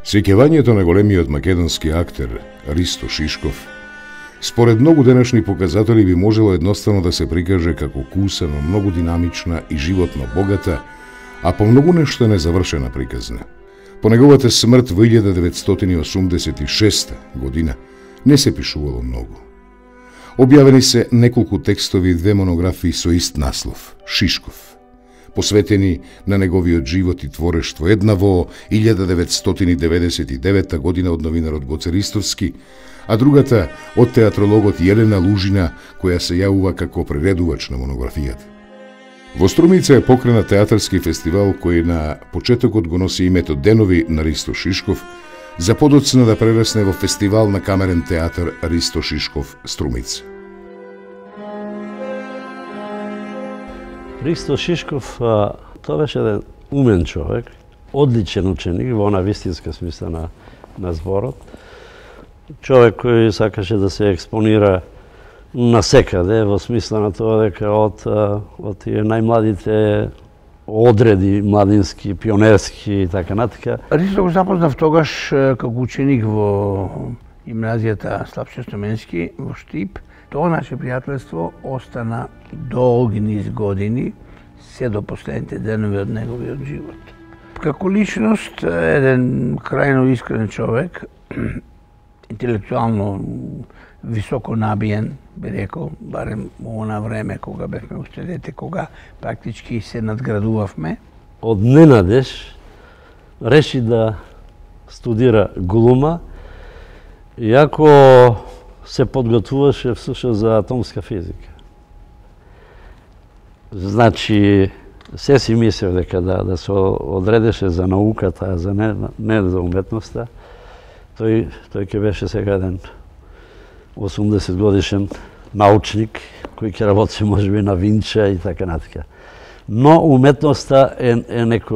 Сеќавањето на големиот македонски актер Ристо Шишков според многу денешни показатели би можело едноставно да се прикаже како кусано, многу динамична и животно богата, а по многу нешто незавршена приказна. По неговата смрт во 1986 година не се пишувало многу. Објавени се неколку текстови и 2 монографии со ист наслов – Шишков, посветени на неговиот живот и творештво, една во 1999 година од новинарот Гоце Ристовски, а другата од театрологот Јелена Лужина, која се јавува како приредувач на монографијата. Во Струмица е покренат театарски фестивал кој на почетокот го носи името Денови на Ристо Шишков, за подоцна да прерасне во фестивал на камерен театар Ристо Шишков Струмица. Ристо Шишков, тоа беше еден умен човек, одличен ученик во она вистинска смисла на зборот. Човек кој сакаше да се експонира насекаде, во смисла на тоа дека од тие најмладите одреди младински, пионерски и така натака. Ристо го запознав тогаш како ученик во гимназијата Славчо Стоменски во Штип. Тоа наше пријателство остана долги низ години, се до последните денови од неговиот живот. Како личност, еден крајно искрен човек, интелектуално високо набиен, би рекол, барем во она време кога бевме уште дете, кога практички се надградувавме. Од ненадеж реши да студира глума, иако се подготвуваше всушност за атомска физика. Значи, се си мислев дека да се одредеше за науката, а за не за уметноста. Тој ќе беше сега еден 80 годишен научник, кој ќе работи можеби на Винча и така натака. Но уметноста е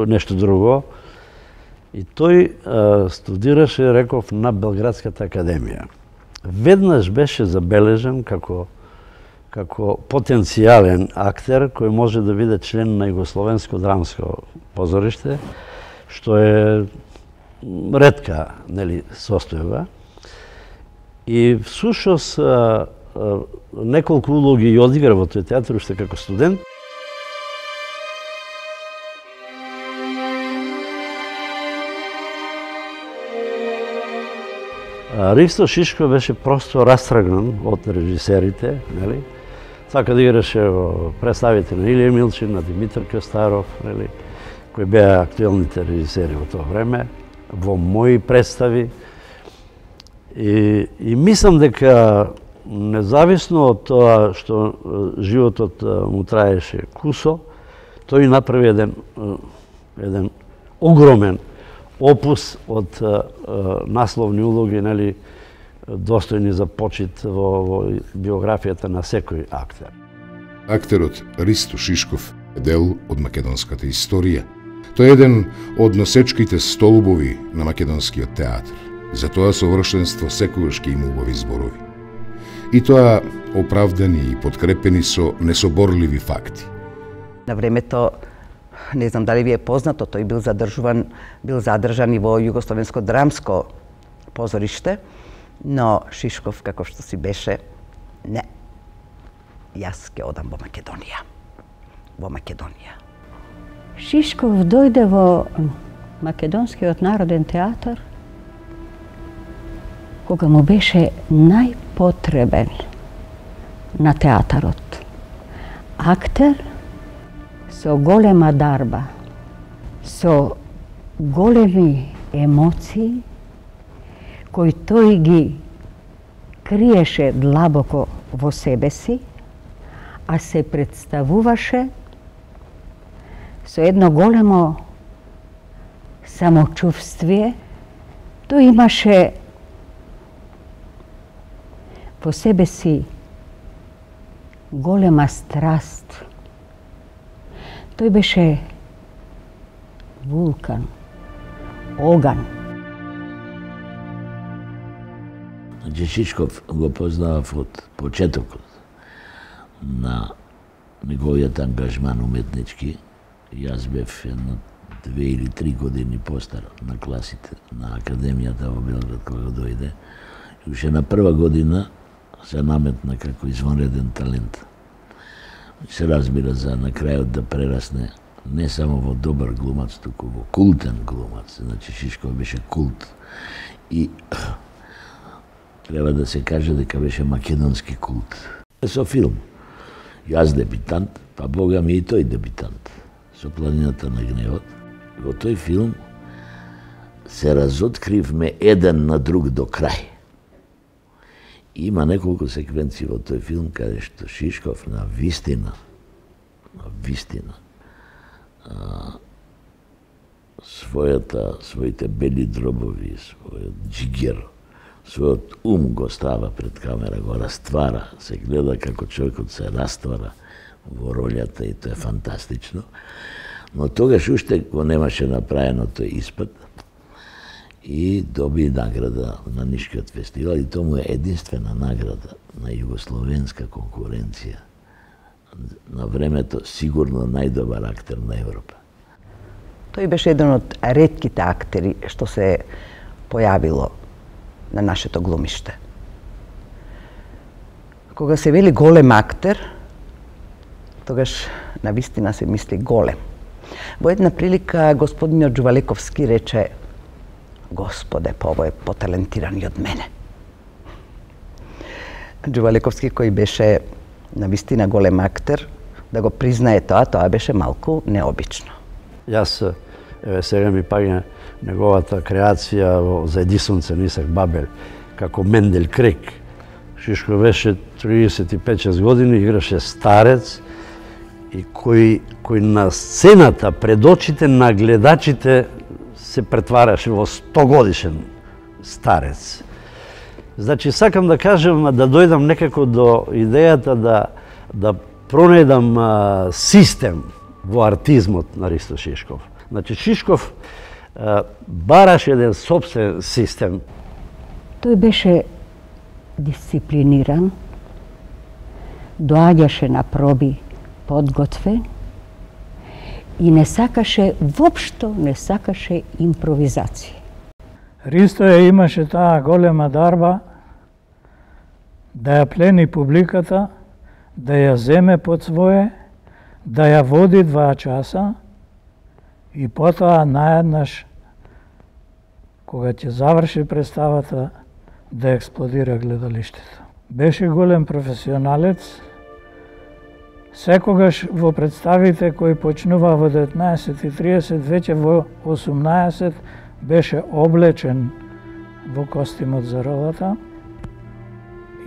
нешто друго. И тој студираше, реков, на Белградската академија. Веднаш беше забележен како потенцијален актер кој може да биде член на Југословенско драмско позориште, што е ретка состојба. И всушност неколку улоги ја одигра во тој театар уште како студент. Ристо Шишков беше просто растргнан од режисерите, нели? Сака да играше во представите на Илија Милчин, на Димитар Костаров, нели? Кои беа актуелните режисери во тоа време, во мои представи. И мислам дека независно од тоа што животот му траеше кусо, тој направи еден огромен опус од насловни улоги, нели, достојни за почит во биографијата на секој актер. Актерот Ристо Шишков е дел од македонската историја. Тој е еден од носечките столбови на македонскиот театар. За тоа совршенство секогаш ќе има убави зборови. И тоа оправдани и подкрепени со несоборливи факти. На времето, не знам дали ви е познато, тој бил задржан и во Југословенско драмско позориште, но Шишков, како што си беше, не, јас ќе одам во Македонија. Во Македонија. Шишков дојде во Македонскиот народен театар кога му беше најпотребен на театарот. Актер со голема дарба, со големи емоции, кои тој ги криеше длабоко во себе си, а се представуваше со едно големо самочувствие. Тој имаше во себе си голема страст. Тој беше вулкан, оган. Значи Шишков го познавав од почетокот на неговиот ангажман уметнички. Јас бев едно 2 или 3 години постар на класите на Академијата во Белград кога дојде. И уште на прва година се наметна како извонреден талент. Се разбира за на крајот да прерасне не само во добар глумац, туку во култен глумац. Значи Шишков беше култ. И треба да се каже дека беше македонски култ. Со филм. Јас дебитант, па бога ми и тој дебитант. Со Планината на гневот. Во тој филм се разоткривме еден на друг до крај. Има неколку секвенции во тој филм каде што Шишков на вистина своите бели дробови, својот джигер, својот го става пред камера, го раствара, се гледа како човекот се раствара во ролјата и тоа е фантастично. Но тогаш уште го немаше направено тој испит и доби награда на Нишкиот фестивал и тоа му е единствена награда на југословенска конкуренција. На времето сигурно најдобар актер на Европа. Тој беше еден од ретките актери што се појавило на нашето глумиште. Кога се вели голем актер, тогаш навистина се мисли голем. Во една прилика господинот Джувалековски рече: Господе, па ово е поталентиран и од мене. Джувалековски, кој беше навистина голем актер, да го признае тоа беше малку необично. Јас, сега ми паѓа неговата креација за Едисонце Нисак Бабел, како Мендель Крек. Шишко беше 35-6 години, играше старец, и кој на сцената пред очите на гледачите се претвараше во 100-годишен старец. Значи, сакам да кажем, да дојдам некако до идејата да пронајдам систем во артизмот на Ристо Шишков. Значи, Шишков бараше еден собствен систем. Тој беше дисциплиниран, доаѓаше на проби подготвен и воопшто не сакаше импровизација. Ристо имаше таа голема дарба да ја плени публиката, да ја земе под свое, да ја води 2 часа и потоа наеднаш, кога ќе заврши представата, да експлодира гледалиштето. Беше голем професионалец. Секогаш во представите кои почнува во 19:30, веќе во 18 беше облечен во костимот за ролата.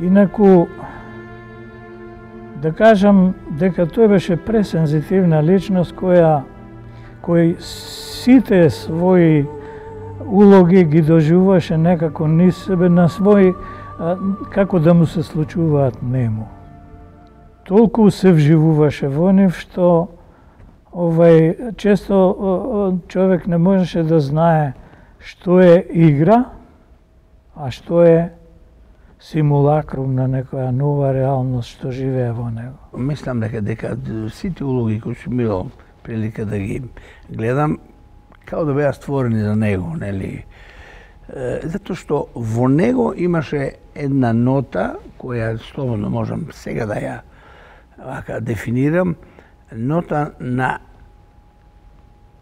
Инаку, да кажам дека тој беше пресензитивна личност кој сите своји улоги ги доживуваше некако низ себе на свој, како да му се случуваат нему. Толку се вживуваше во нив што често човек не можеше да знае што е игра, а што е симулакрум на некоја нова реалност што живее во него. Мислам дека сите улоги кои сум имал прилика да ги гледам, као да беа створени за него, нели? Затоа што во него имаше една нота која слободно можам сега да ја дефинирам, нота на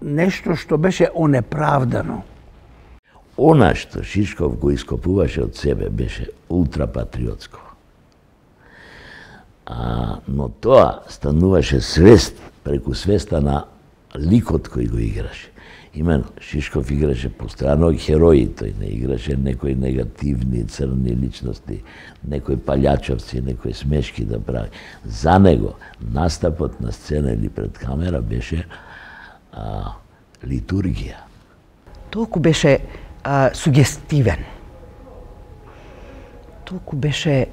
нешто што беше онеправдано. Она што Шишков го ископуваше од себе беше ултрапатриотско. Но тоа стануваше свест преку свеста на ликот кој го играше. Именно, Шишков играше постојано херои, тој не играше некои негативни, црни личности, некои палјачовци, некои смешки да прави. За него настапот на сцена или пред камера беше литургија. Толку беше сугестивен. Толку беше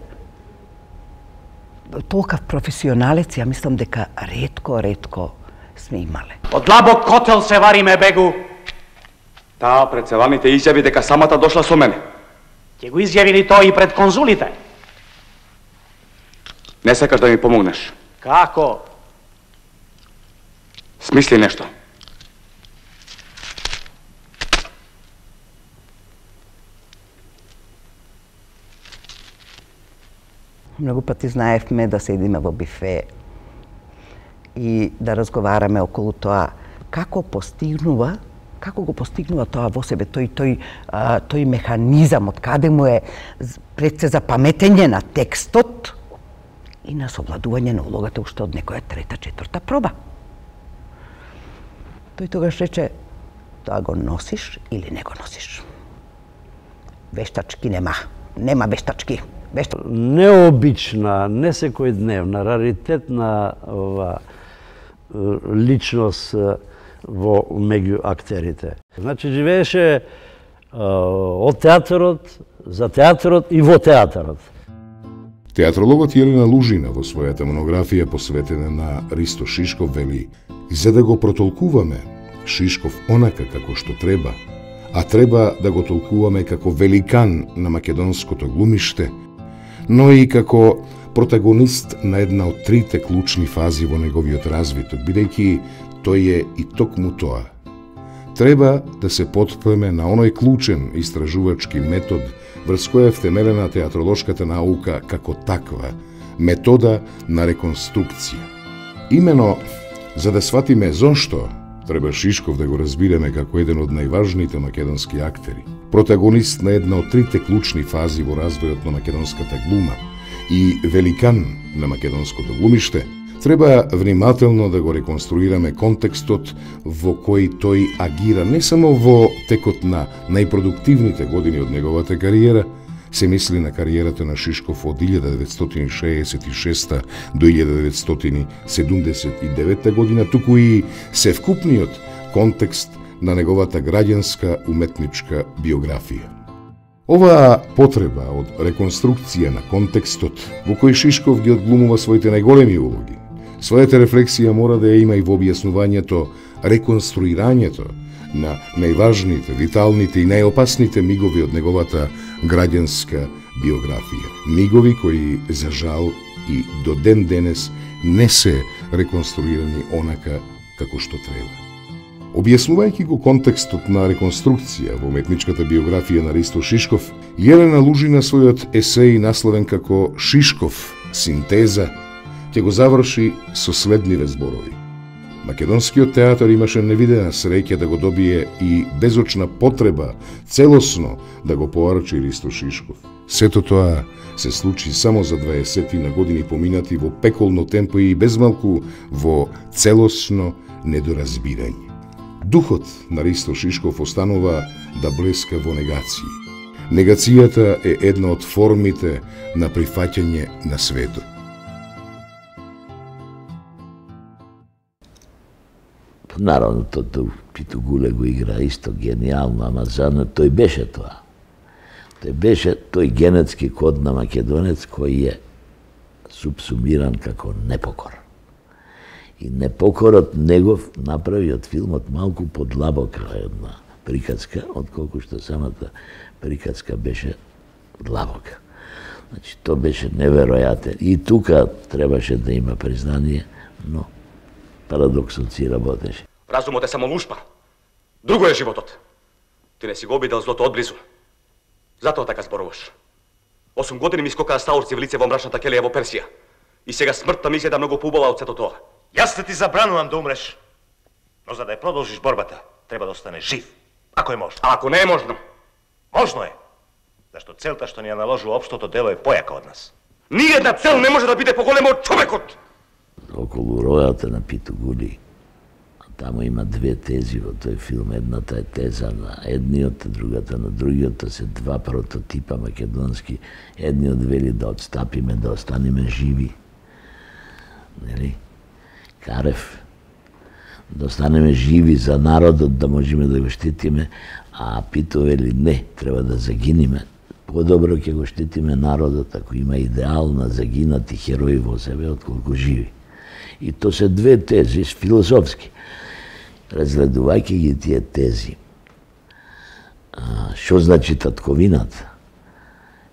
толкав професионалец, ја мислам дека ретко сме имале. Од длабок котел се вариме, бегу. Таа пред целаните изјави дека самата дошла со мене. Ќе го изјавили тоа и пред конзулите. Не сакаш да ми помогнеш? Како? Смисли нешто. Многу пати знаевме да седиме во бифе и да разговараме околу тоа како го постигнува тоа во себе, тој механизам, од каде му е пред се запаметење на текстот и на совладување на улогата уште од некоја трета, четврта проба. Тој тогаш рече, тоа го носиш или не го носиш. Вештачки нема вештачки. Необична, не секојдневна, раритетна личност меѓу актерите. Значи, живееше од театарот, за театарот и во театарот. Театрологот Јелена Лужина во својата монографија посветена на Ристо Шишков вели: за да го протолкуваме Шишков онака како што треба, а треба да го толкуваме како великан на македонското глумиште, но и како протагонист на една од трите клучни фази во неговиот развиток, бидејќи тој е и токму тоа. Треба да се потпреме на оној клучен истражувачки метод врз која е втемелена театролошката наука како таква, метода на реконструкција. Имено, за да сватиме зошто, треба Шишков да го разбираме како еден од најважните македонски актери, протагонист на една од трите клучни фази во развојот на македонската глума и великан на македонското глумиште, треба внимателно да го реконструираме контекстот во кој тој агира не само во текот на најпродуктивните години од неговата кариера, се мисли на кариерата на Шишков од 1966 до 1979 година, туку и севкупниот контекст на неговата граѓанска уметничка биографија. Оваа потреба од реконструкција на контекстот во кој Шишков ги одглумува своите најголеми улоги, својата рефлексија мора да ја има и во објаснувањето, реконструирањето на најважните, виталните и најопасните мигови од неговата граѓанска биографија. Мигови кои, за жал, и до ден денес не се реконструирани онака како што треба. Објаснувајќи го контекстот на реконструкција во уметничката биографија на Ристо Шишков, Јелена Лужина својот есеј насловен како Шишков синтеза ќе го заврши со следниве зборови. Македонскиот театар имаше невидена среќа да го добие и безочна потреба целосно да го поарчи Ристо Шишков. Сето тоа се случи само за 20 на години поминати во пеколно темпо и безмалку во целосно недоразбирање. Духот на Ристо Шишков останува да блеска во негација. Негацијата е една од формите на прифаќање на светот. Наравно, Пито Гуле го игра исто генијално, ама задно тој беше тоа. Тој беше тој генетски код на македонец кој е субсумиран како непокор. И непокорот негов направи од филмот малку подлабока една приказка, отколку што самата приказка беше длабока. Значи, тоа беше неверојатен. И тука требаше да има признание, но парадоксот си работеше. Разумот е само лушпа. Друго е животот. Ти не си го обидел злото одблизу. Затоа така зборуваш. 8 години ми скокаа стаурци в лице во мрачната келија во Персија. И сега смртта ми изгледа многу поубава од сето тоа. Јас ти забранувам да умреш. Но за да ја продолжиш борбата, треба да останеш жив. Ако е можно. А ако не е можно? Можно е. Зашто целта што ни ја наложи општото дело е појака од нас. Ниједна цел не може да биде поголема од човекот. Околу ројата на Пито Гули, таму има две тези во тој филм. Едната е теза на едниот, другата на другиот. Тоа се два прототипа македонски. Едниот вели да отстапиме, да останеме живи. Нели? Карев. Да останеме живи за народот, да можеме да го штитиме, а Пито вели не, треба да загиниме. Подобро ќе го штитиме народот ако има идеал на загинати херои во себе, отколку живи. И то се две тези филозофски. Разгледувајќи ги тие тези, што значи татковината?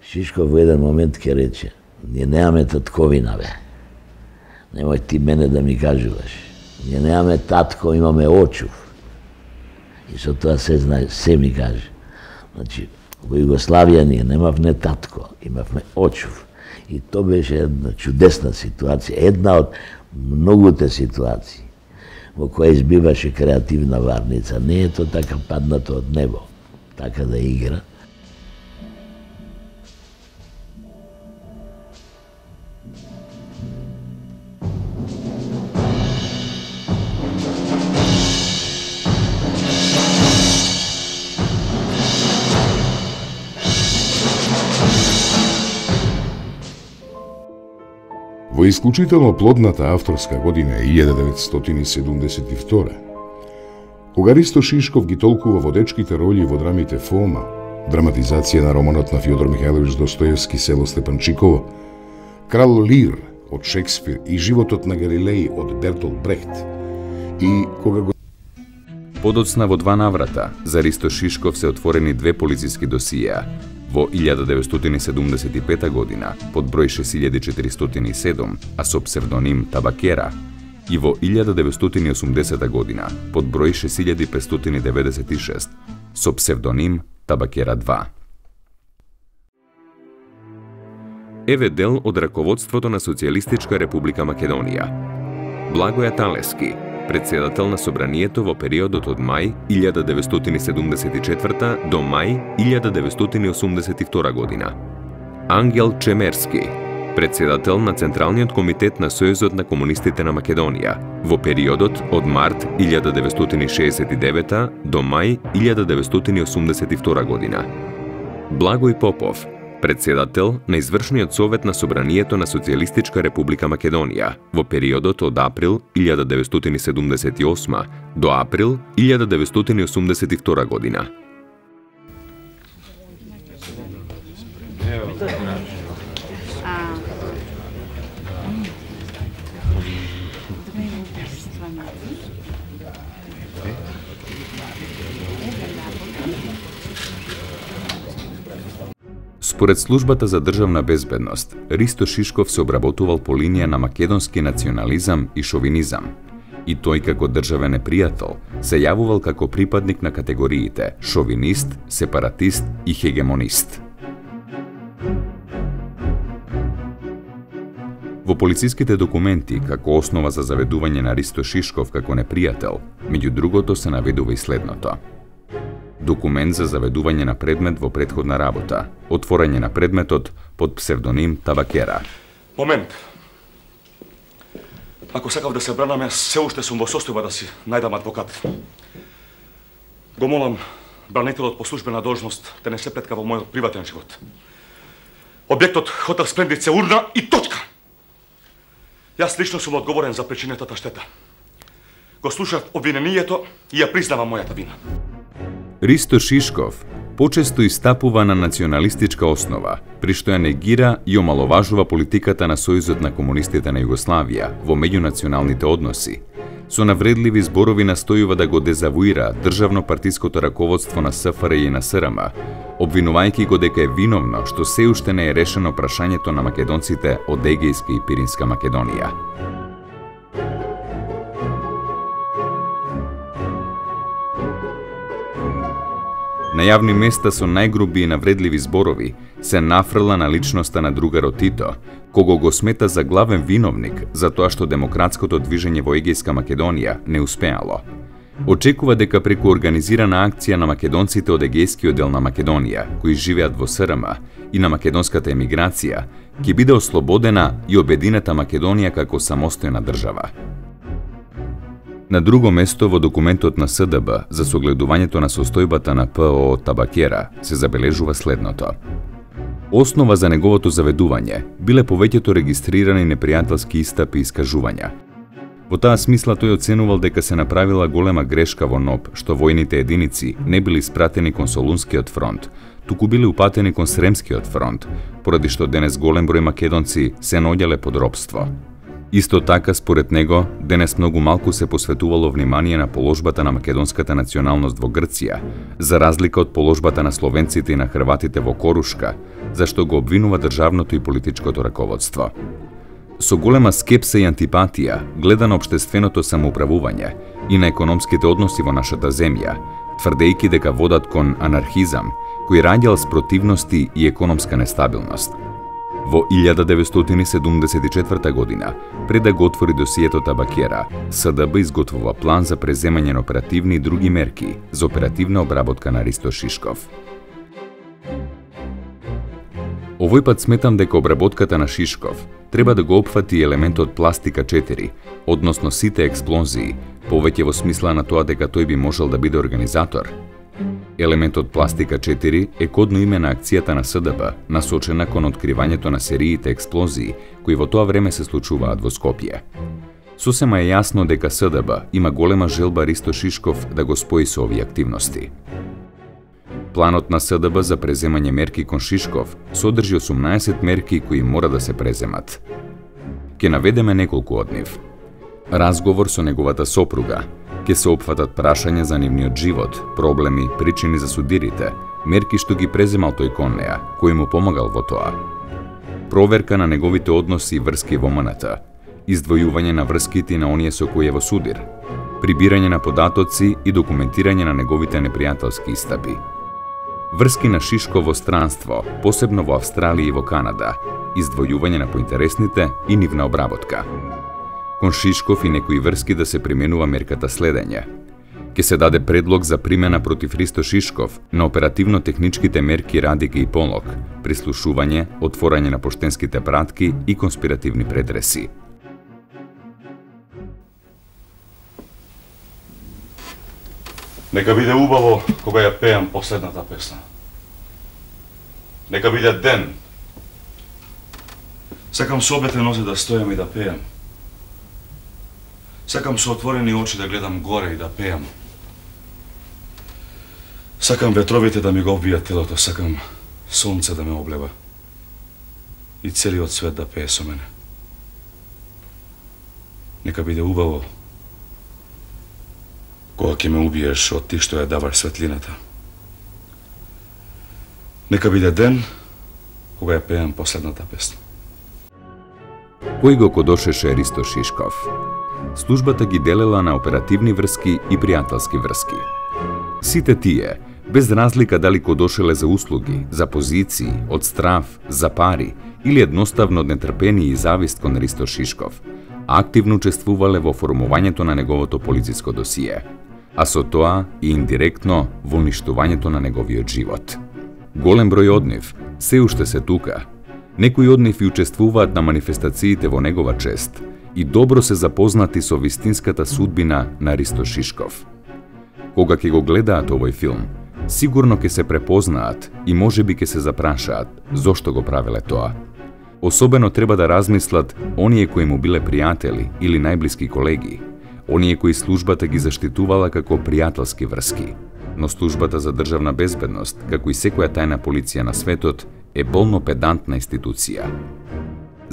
Шишков во еден момент ќе рече, ние немаме татковина, бе. Немој ти мене да ми кажуваш. Ние немаме татко, имаме очув. И со тоа се ми каже. Значи, во Југославија ние немавме татко, имавме очув. И то беше една чудесна ситуација, една од многуте ситуации во која избиваше креативна варница. Не е то така паднато од небо, така да игра. Во исклучително плодната авторска година е 1972, кога Ристо Шишков ги толкува водечките роли во драмите Фома, драматизација на романот на Фјодор Михајлович Достоевски Село Степанчиково, Крал Лир од Шекспир и Животот на Галилеј од Бертолт Брехт, и кога го... Подоцна во 2 наврата за Ристо Шишков се отворени 2 полициски досиеа. Во 1975 година под број 6407, а со псевдоним Табакера, и во 1980 година под број 6596, со псевдоним Табакера 2. Еве дел од раководството на Социјалистичка република Македонија. Благоја Талески, председател на собранието во периодот од мај 1974 до мај 1982 година. Ангел Чемерски, председател на Централниот комитет на Сојузот на комунистите на Македонија во периодот од март 1969 до мај 1982 година. Благој Попов, председател на Извршниот совет на собранието на Социјалистичка република Македонија во периодот од април 1978 до април 1982 година. Според службата за државна безбедност, Ристо Шишков се обработувал по линија на македонски национализам и шовинизам. И тој како државен непријател се јавувал како припадник на категориите шовинист, сепаратист и хегемонист. Во полициските документи, како основа за заведување на Ристо Шишков како непријател, меѓу другото се наведува и следното. Документ за заведување на предмет во претходна работа, отворање на предметот под псевдоним Табакера. Момент. Ако сакав да се бранам, јас се уште сум во состојба да си најдам адвокат. Го молам бранителот по службена должност да не се плетка во мојот приватен живот. Објектот Хотел Сплендид се урна и точка. Јас лично сум одговорен за причинетата штета. Го слушав обвинението и ја признавам мојата вина. Ристо Шишков почесто истапува на националистичка основа, при што ја негира и омаловажува политиката на Сојузот на комунистите на Југославија во меѓунационалните односи. Со навредливи зборови настојува да го дезавуира државно-партиското раководство на СФРЈ и на СРМ, обвинувајќи го дека е виновно што се уште не е решено прашањето на македонците од Егејска и Пиринска Македонија. На јавни места со најгруби и навредливи зборови се нафрла на личноста на другарот Тито, кого го смета за главен виновник за тоа што демократското движење во Егејска Македонија не успеало. Очекува дека преку организирана акција на македонците од Егејскиот дел на Македонија, кои живеат во СРМ, и на македонската емиграција, ќе биде ослободена и обединета Македонија како самостојна држава. На друго место во документот на СДБ за согледувањето на состојбата на ПО Табакера се забележува следното. Основа за неговото заведување биле повеќето регистрирани непријателски истапи и искажувања. Во таа смисла тој оценувал дека се направила голема грешка во НОБ што војните единици не били спратени кон Солунскиот фронт, туку били упатени кон Сремскиот фронт, поради што денес голем број македонци се наоѓале под робство. Исто така, според него, денес многу малку се посветувало внимание на положбата на македонската националност во Грција, за разлика од положбата на словенците и на хрватите во Корушка, зашто го обвинува државното и политичкото раководство. Со голема скепса и антипатија гледа на општественото самоуправување и на економските односи во нашата земја, тврдејќи дека водат кон анархизам, кој раѓал спротивности и економска нестабилност. Во 1974 година, пред да го отвори досието Табакера, СДБ изготвува план за преземање на оперативни и други мерки за оперативна обработка на Ристо Шишков. Овој пат сметам дека обработката на Шишков треба да го опфати елементот пластика 4, односно сите експлозии, повеќе во смисла на тоа дека тој би можел да биде организатор. Елементот пластика 4 е кодно име на акцијата на СДБ, насочена кон откривањето на сериите експлозии кои во тоа време се случуваат во Скопје. Сосема е јасно дека СДБ има голема желба Ристо Шишков да го спои со овие активности. Планот на СДБ за преземање мерки кон Шишков содржи 18 мерки кои мора да се преземат. Ке наведеме неколку од нив. Разговор со неговата сопруга, ке се опфатат прашања за нивниот живот, проблеми, причини за судирите, мерки што ги преземал тој кон неа, кој му помагал во тоа. Проверка на неговите односи и врски во МНТ, издвојување на врските на оние со кои е во судир, прибирање на податоци и документирање на неговите непријателски истапи. Врски на Шишков во странство, посебно во Австралија и во Канада, издвојување на поинтересните и нивна обработка. Кон Шишков и некои врски да се применува мерката следење. Ке се даде предлог за примена против Ристо Шишков на оперативно-техничките мерки Радике и Полок, прислушување, отворање на поштенските пратки и конспиративни предреси. Нека биде убаво кога ја пеам последната песна. Нека биде ден. Сакам со обете нозе да стојам и да пеам. Сакам со отворени очи да гледам горе и да пеам. Сакам ветровите да ми го обвијат телото, сакам сонце да ме облева и целиот свет да пее со мене. Нека биде убаво кога ќе ме убиеш од ти што ја даваш светлината. Нека биде ден кога ја пеам последната песна. Кој го кодошеше Ристо Шишков? Службата ги делела на оперативни врски и пријателски врски. Сите тие, без разлика дали кодошеле за услуги, за позиции, од страв, за пари или едноставно од нетрпение и завист кон Ристо Шишков, активно учествувале во формувањето на неговото полициско досие, а со тоа и индиректно во уништувањето на неговиот живот. Голем број од нив се уште се тука. Некои од нив и учествуваат на манифестациите во негова чест и добро се запознати со вистинската судбина на Ристо Шишков. Кога ќе го гледаат овој филм, сигурно ќе се препознаат и можеби ќе се запрашаат зошто го правеле тоа. Особено треба да размислат оние кои му биле пријатели или најблиски колеги, оние кои службата ги заштитувала како пријателски врски. Но службата за државна безбедност, како и секоја тајна полиција на светот, е болно педантна институција.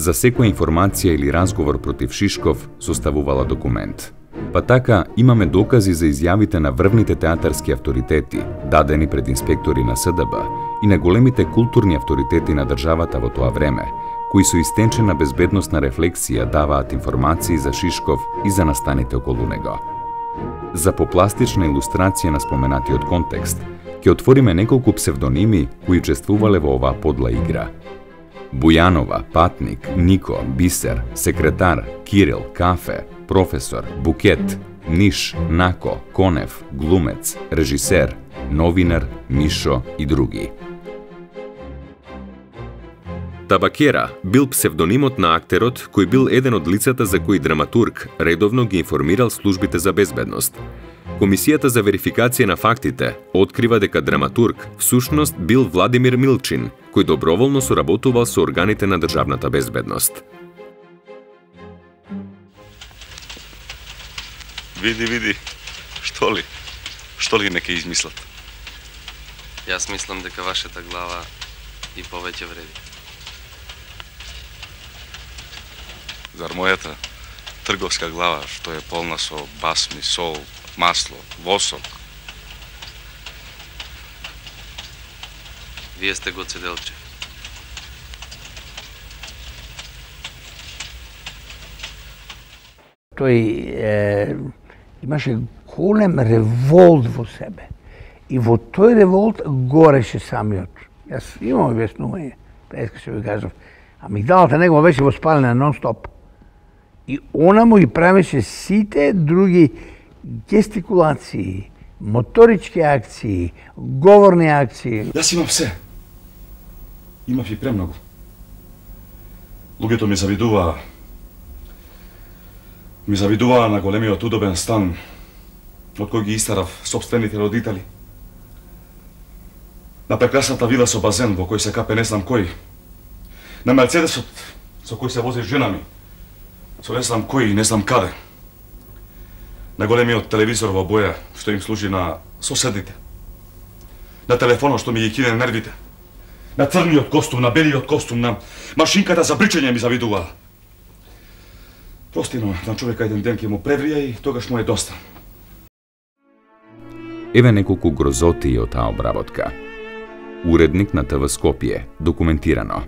За секоја информација или разговор против Шишков составувала документ. Па така, имаме докази за изјавите на врвните театарски авторитети, дадени пред инспектори на СДБ и на големите културни авторитети на државата во тоа време, кои со истенчена безбедносна рефлексија даваат информации за Шишков и за настаните околу него. За попластична илустрација на споменатиот контекст, ќе отвориме неколку псевдоними кои учествувале во оваа подла игра. Бујанова, Патник, Нико, Бисер, Секретар, Кирил, Кафе, Професор, Букет, Ниш, Нако, Конев, Глумец, Режисер, Новинар, Мишо и други. Табакера бил псевдонимот на актерот кој бил еден од лицата за кои драматург редовно ги информирал службите за безбедност. Комисијата за верификација на фактите открива дека драматург всушност бил Владимир Милчин, кој доброволно соработувал со органите на државната безбедност. Види, што ли неке измислат? Јас мислам дека вашата глава и повеќе вреди. Зар мојата? трговска глава што е полна со басми, сол, масло, восок. Вие сте го Цеделчев. Тој имаше голем револт во себе. И во тој револт гореше самиот. Јас имам објаснување, преска што ви кажав. Амигдалата негова беше воспалена нон-стоп. И она му ги правеше сите други гестикулации, моторички акции, говорни акции. Јас имам се. Имав и премногу. Луѓето ми завидуваа на големиот удобен стан од кој ги истарав собствените родители. На прекрасната вила со базен во кој се капе не знам кој. На Мерцедесот со кој се вози жена ми. Со не знам кој и не знам каде. На големиот телевизор во боја што им служи на соседите. На телефонот што ми ги кине нервите. На црниот костум, на белиот костум, на машинката за бричење ми завидуваа. Простино, на човека еден ден ќе му преврија и тогаш му е доста. Еве неколку грозоти од таа обработка. Уредник на ТВ Скопје, документирано.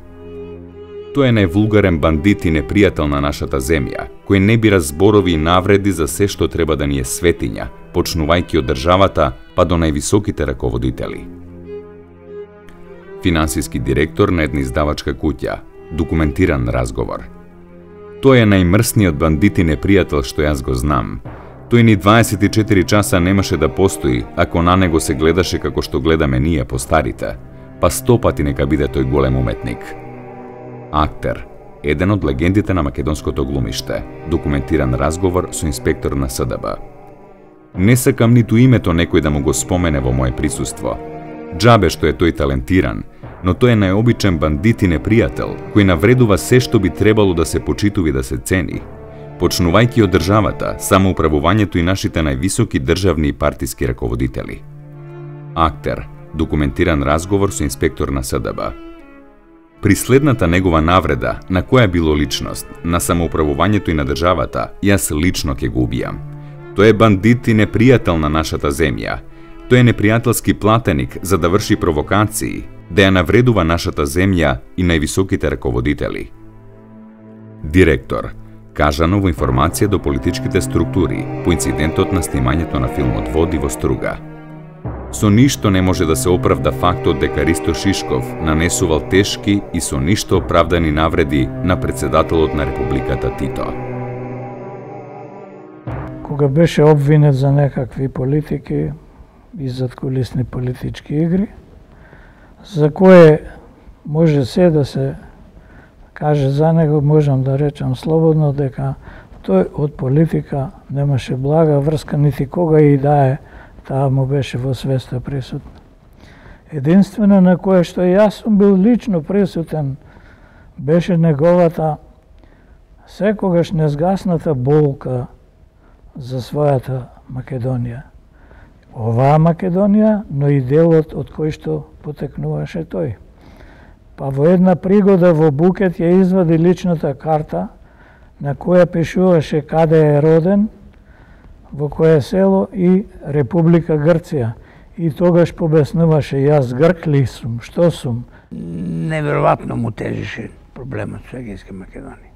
Тој е највулгарен бандит и непријател на нашата земја, кој не бира зборови и навреди за се што треба да ни е светиња, почнувајќи од државата па до највисоките раководители. Финансиски директор на една издавачка куќа, документиран разговор. Тој е најмрсниот бандит и непријател што јас го знам. Тој ни 24 часа немаше да постои ако на него се гледаше како што гледаме ние постарите, па 100 пати нека биде тој голем уметник. Актер, еден од легендите на македонското глумиште, документиран разговор со инспектор на СДБ. Не сакам ниту името некој да му го спомене во моје присуство. Џабе што е тој талентиран, но тој е најобичен бандит и непријател, кој навредува се што би требало да се почитува и да се цени, почнувајќи од државата, самоуправувањето и нашите највисоки државни и партиски раководители. Актер, документиран разговор со инспектор на СДБ. При следната негова навреда, на која било личност, на самоуправувањето и на државата, јас лично ќе го убијам. Тој е бандит и непријател на нашата земја. Тој е непријателски платеник за да врши провокации, да ја навредува нашата земја и највисоките раководители. Директор, кажано во информација до политичките структури по инцидентот на снимањето на филмот Води во струга. Со ништо не може да се оправда фактот дека Ристо Шишков нанесувал тешки и со ништо оправдани навреди на председателот на Републиката Тито. Кога беше обвинет за некакви политики и задкулисни политички игри, за кое може се да се каже за него, можам да речам слободно дека тој од политика немаше блага врска, нити кога и да е, таа му беше во свеста присутна. Единствено на кое што јас сум бил лично присутен беше неговата секогаш незгасната болка за својата Македонија. Оваа Македонија, но и делот од кој што потекнуваше тој. Па во една пригода во Букет ја извади личната карта на која пишуваше каде е роден, во кое село и Република Грција. И тогаш побеснуваше, јас грк ли сум, што сум? Неверојатно му тежеше проблемот со Егејска Македонија.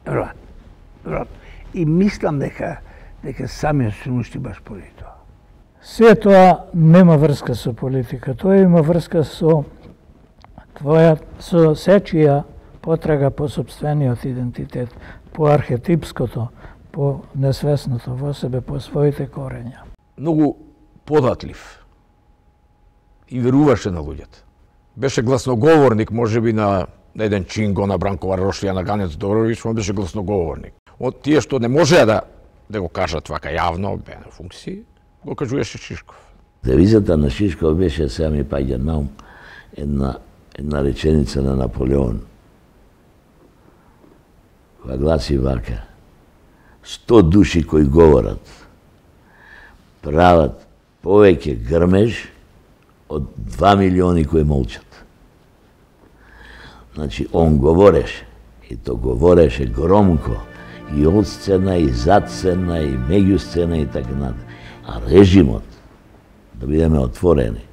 Неверојатно. И мислам дека самиот се уништи баш поради тоа. Се тоа нема врска со политика, тоа има врска со сечија потрага по собствениот идентитет, по архетипското, по несвесното во себе, по своите корења. Многу податлив и веруваше на луѓето. Беше гласноговорник, можеби на еден Чинго, на Бранкова Рошлија, на Ганец Добрович, он беше гласноговорник. Од тие што не можеа да го кажат вака јавно, бе на функции, го кажуваше Шишков. Девизата на Шишков беше, сега ми паѓа на ум, една реченица на Наполеон, која гласи вака: 100 души кои говорат прават повеќе грмеж од 2 милиони кои молчат. Значи, он говореше, и то говореше громко, и од сцена, и зад сцена, и меѓу сцена и така натаму. А режимот, да бидеме отворени,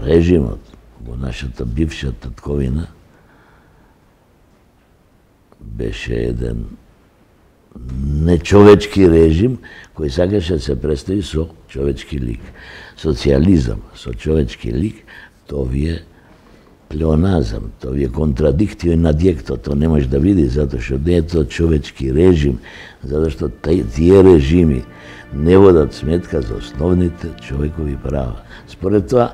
режимот во нашата бивша татковина беше еден нечовечки режим кој сакаше да се представи со човечки лик. Социализам со човечки лик, тоа ви е плеоназам, тоа ви е контрадиктио на диекто, тоа не може да види, затоа што не е тоа човечки режим, затоа што тие режими не водат сметка за основните човекови права. Според тоа,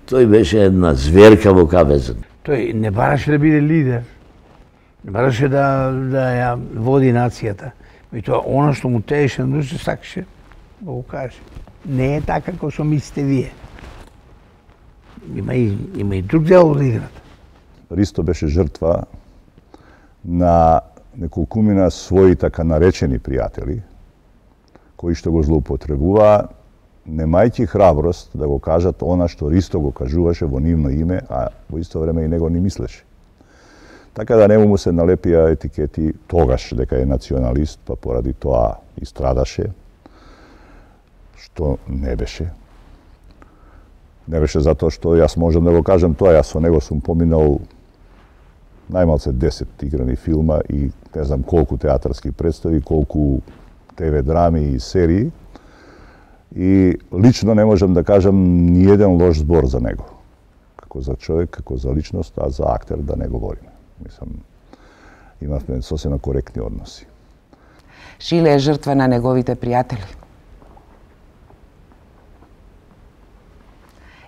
тој беше една зверка во кавезот. Тој не бараше да биде лидер, не бараше да ја води нацијата. И тоа, она што му тееше на душа, сакаше да го каже. Не е така како што мислите вие. Има и друг дел од играта. Ристо беше жртва на неколкумина своји така наречени пријатели, кои што го злоупотребуваа, немајќи храброст да го кажат она што Ристо го кажуваше во нивно име, а во исто време и него не мислеше. Така да нему му се налепија етикети тогаш дека е националист, па поради тоа и страдаше, што не беше. Не беше затоа што јас можам да го кажам тоа, јас со него сум поминал најмалце 10 играни филма и не знам колку театарски представи, колку ТВ драми и серии. И лично не можам да кажам ни еден лош збор за него. Како за човек, како за личност, а за актер да не говориме. Мислам, имавме сосема коректни односи. Шиле е жртва на неговите пријатели.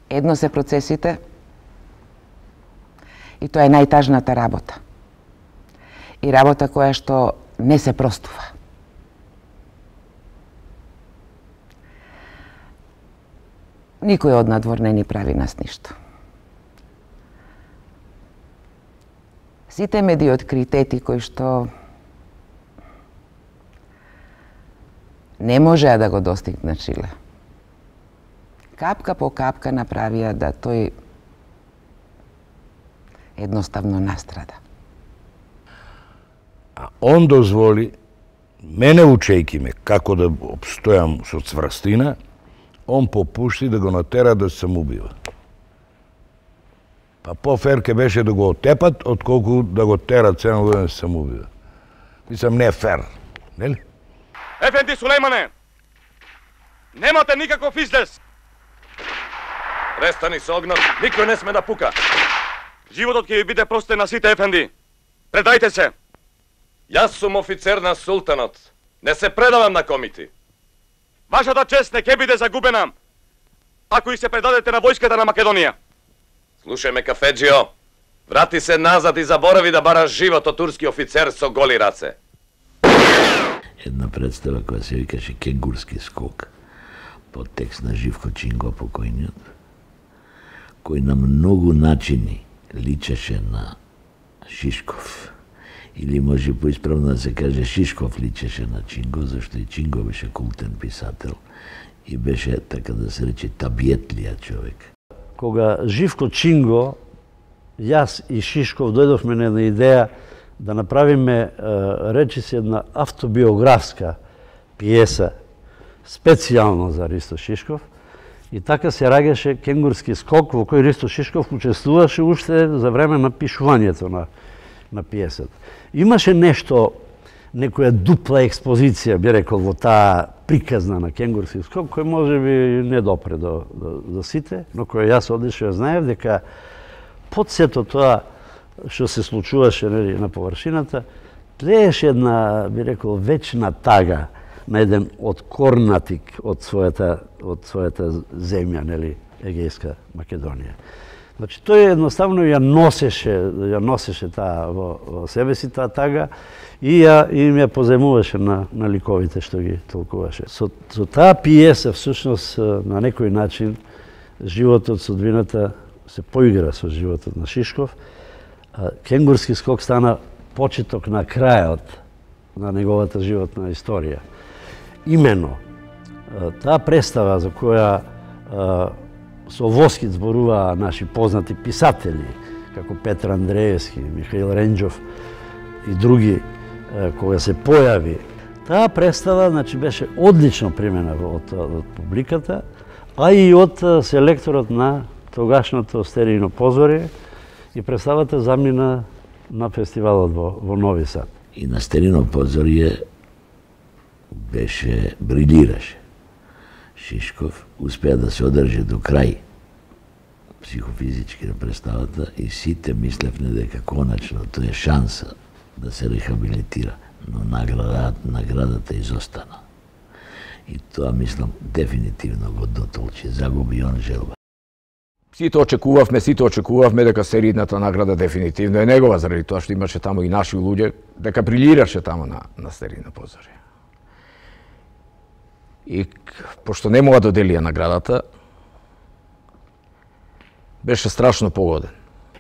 Едно се процесите и тоа е најтажната работа. И работа која што не се простува. Никој од надвор не ни прави нас ништо. Сите медиоткритети кои што не можеа да го достигнат Шиле, капка по капка направија да тој едноставно настрада. А он дозволи, мене учејки ме како да обстојам со цврстина, он попушти да го натера да се самоубива. Па по-фер ке беше да го отепат, отколку да го терат цено да се самоубива. Мислам, не е фер, нели? Ефенди Сулеймане, немате никаков излез. Престани со огнот, никој не сме да пука. Животот ќе ви биде простен на сите, Ефенди. Предајте се. Јас сум офицер на султанот. Не се предавам на комити. Вашата чест не ќе биде загубена ако и се предадете на војската на Македонија. Слушај ме, кафеджио. Врати се назад и заборави да бараш живот од турски офицер со голи раце. Една представа која се викаше Кенгурски скок, под текст на Живко Чинго покојниот, кој на многу начини личеше на Шишков. Или може поисправно да се каже Шишков личеше на Чинго, зашто и Чинго беше култен писател и беше, така да се рече, табиетлија човек. Кога Живко Чинго, јас и Шишков дојдовме на една идеја да направиме, речи се, една автобиографска пиеса специјално за Ристо Шишков, и така се раѓаше Кенгурски скок, во кој Ристо Шишков учествуваше уште за време на пишувањето на пиесата. Имаше нешто, некоја дупла експозиција, би рекол, во таа приказна на Кенгурски скок, кој може би не допре до сите, но кој јас одлично знаев дека под сето тоа што се случуваше на површината, тлееше една, би рекол, вечна тага на еден откорнатик од својата земја, нели, Егејска Македонија. Значи, тој едноставно ја носеше таа во себе си таа тага и им ја поземуваше на ликовите што ги толкуваше. Со таа пиеса, всушност, на некој начин, животот, судбината се поигра со животот на Шишков. Кенгурски скок стана почеток на крајот на неговата животна историја. Имено, таа представа за која со воскит зборуваа наши познати писатели, како Петр Андреевски, Михаил Ренџов и други, кога се појави. Таа представа, значи, беше одлично примена од публиката, а и од селекторот на тогашното стерино позорие, и представата замина на фестивалот во Нови Сад. И на стерино позорие брилираше. Шишков успеа да се одржи до крај психофизички на представата и сите мислевме дека конечно тоа е шанса да се рехабилитира, но наградата изостана. И тоа, мислам, дефинитивно го дотолчи, загуби он желба. Сите очекувавме дека серијната награда дефинитивно е негова, заради тоа што имаше таму и наши луѓе, дека брилираше таму на стерино позорие. И пошто не мога да доделија наградата, беше страшно погоден.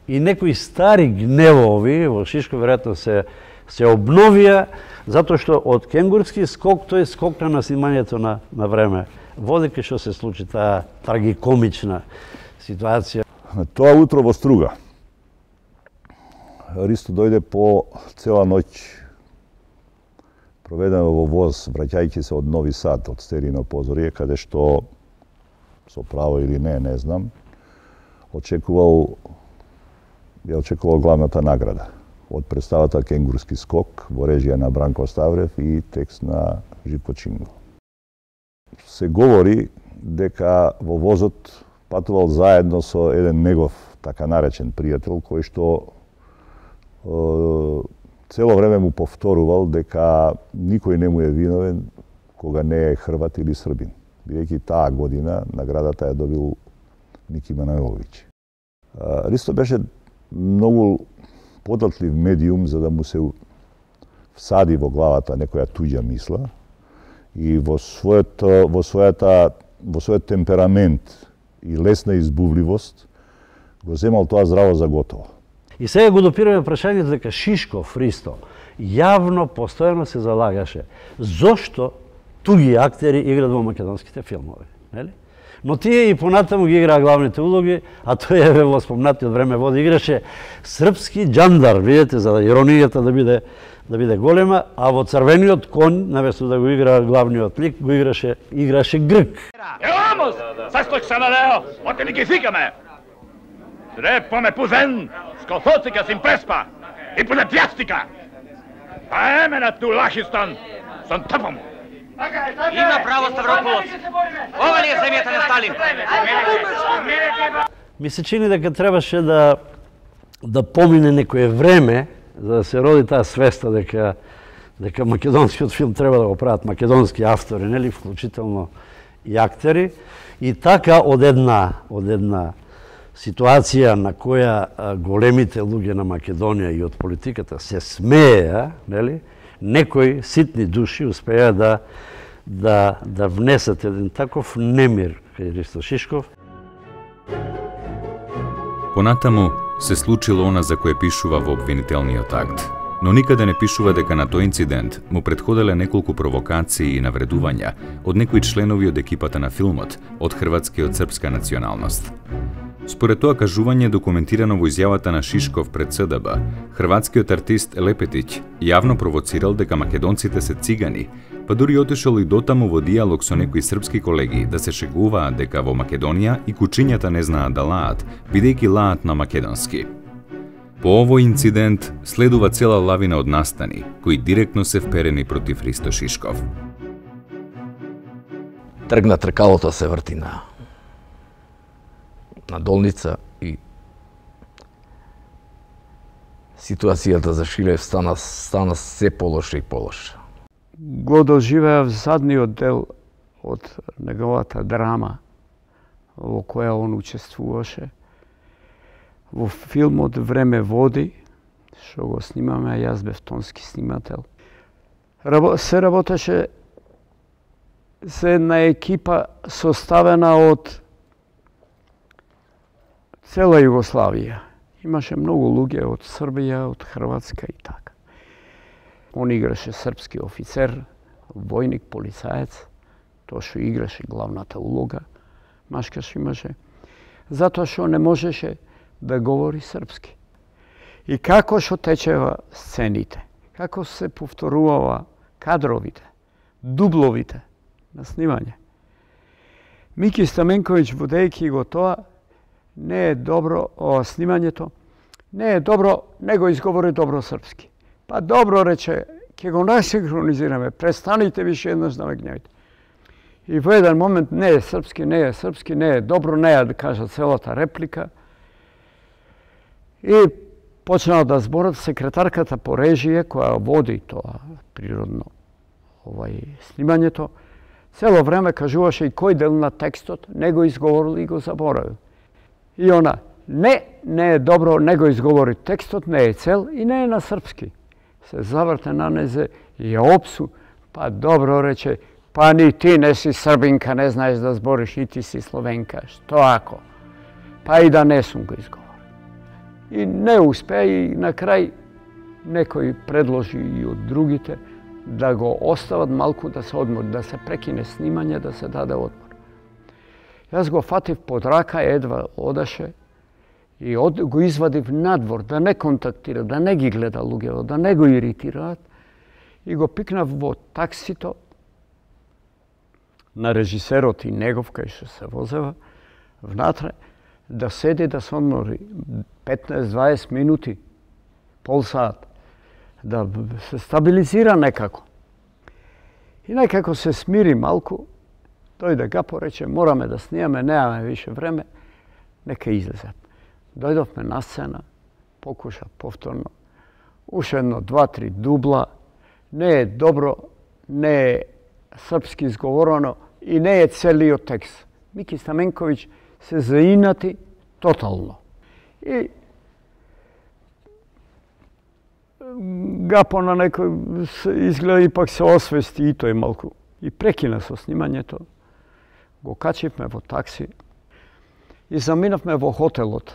И некои стари гневови во Шишков веројатно се обновија, затоа што од кенгурски скок тој скокна на снимањето на време. Водејќи што се случи таа трагикомична ситуација. Тоа утро во Струга. Ристо дојде по цела ноќ проведено во воз, враќајќи се од Нови Сад, од стерино позорие, каде што, со право или не знам, очекувал главната награда од представата Кенгурски скок во режија на Бранко Ставрев и текст на Живко Чинго. Се говори дека во возот патувал заедно со еден негов така наречен пријател кој што цело време му повторувал дека никој не му е виновен кога не е Хрват или Србин, бидејќи таа година наградата ја добил Мики Манojlović. Ристо беше многу податлив медиум за да му се всади во главата некоја туѓа мисла и во својот темперамент и лесна избувливост го земал тоа здраво за готово. И сега го допираме прашањето дека Шишков, Ристо, јавно, постојано се залагаше зошто туги актери играат во македонските филмови, нели? Но тие и понатаму ги играа главните улоги, а тој е во спомнатиот време води играше српски џандар, видите, за иронијата да биде голема, а во Црвениот конј, наместо да го игра главниот лик, го играше грк. Vamos! Састој се налео, оте ни ги фикаме! Трепаме пузен, скофоцика сим преспа и пуне пјастика! Па еме на ту лахистан, сон тъпам! Има право Ставропулос. Ова ли е земјата на Сталин? Ми се чини дека требаше да помине некое време за да се роди таа свеста дека македонскиот филм треба да го прават македонски автори, нели, вклучително и актери. И така од една ситуација на која големите луѓе на Македонија и од политиката се смееа, нели, некои ситни души успеа да внесат еден таков немир кај Ристо Шишков. Понатаму се случило она за кое пишува во обвинителниот акт, но никаде не пишува дека на тој инцидент му претходеле неколку провокации и навредувања од некои членови од екипата на филмот од хрватска и од српска националност. Според тоа кажување документирано во изјавата на Шишков пред СДБ, хрватскиот артист Лепетиќ јавно провоцирал дека македонците се цигани, па дури отишол и дотаму во диалог со некои српски колеги да се шегуваат дека во Македонија и кучињата не знаат да лаат, бидејќи лаат на македонски. По овој инцидент следува цела лавина од настани, кои директно се вперени против Ристо Шишков. Тргна тркалото се врти на долница и ситуацијата за Шилев стана се полоша и полоша. Го доживеав задниот дел од неговата драма во која он учествуваше. Во филмот Време води, што го снимаме, а јас бев тонски снимател. Се работеше за една екипа составена од цела Југославија. Имаше многу луѓе од Србија, од Хрватска и така. Он играше српски офицер, војник, полицаец. Тоа што играше главната улога, машкаш имаше. Затоа што не можеше да говори српски. И како што течева сцените, како се повторувава кадровите, дубловите на снимање. Мики Стаменковиќ, водејќи го тоа, не е добро снимањето, не е добро, не го изговори добро српски. Па добро рече, ќе го насинхронизираме, престаните више еднаш да ме гневите. И во еден момент не е српски, не е добро, не е да кажа целата реплика. И почнала да зборат секретарката по режија, која води тоа природно снимањето, цело време кажуваше и кој дел на текстот не го изговорил и го заборавил. И она, не е добро, не го изговори текстот, не е цел и не е на српски. Се заврте на незе и ја опсу, па добро рече, па ни ти не си србинка, не знаеш да збориш, и ти си словенка, што ако? Па и да не сум го изговорил. И не успе и на крај некој предложи и од другите да го остават малку да се одмори, да се прекине снимање, да се даде одмор. Јас го фатив под рака, едва одеше и го извадив надвор, да не контактира, да не ги гледа луѓето, да не го иритираат и го пикнав во таксито на режисерот и негов кај што се возева внатре, да седи да се одмори 15-20 минути, пол сат, да се стабилизира некако. И некако се смири малку, дојде Гапо, рече, мораме да снимаме, немаме више време, нека излезат. Дојдовме на сцена, покуша повторно, уште едно, 2-3 дубла, не е добро, не е српски изговорено и не е целиот текст. Мики Стаменковиќ се заинати тотално. И Гапо на некој изгледа ипак се освести и тој малку. И прекина со снимањето. Го качивме во такси и заминавме во хотелот.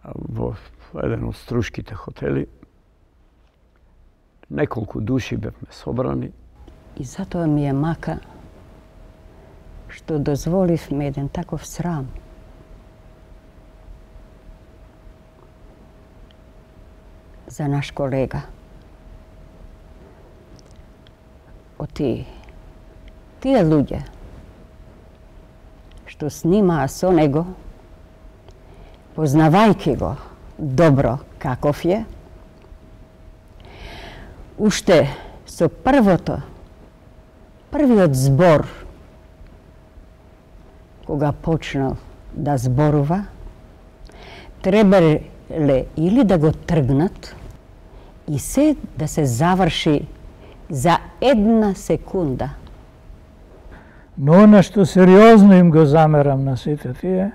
Во еден од струшките хотели. Неколку души бевме собрани. И затоа ми е мака што дозволивме еден таков срам. За наш колега. Од тие луѓе што снимаа со него, познавајќи го добро каков е, уште со првиот збор, кога почнал да зборува, требале или да го тргнат и се да се заврши за 1 секунда. Но она што сериозно им го замерам на сите тие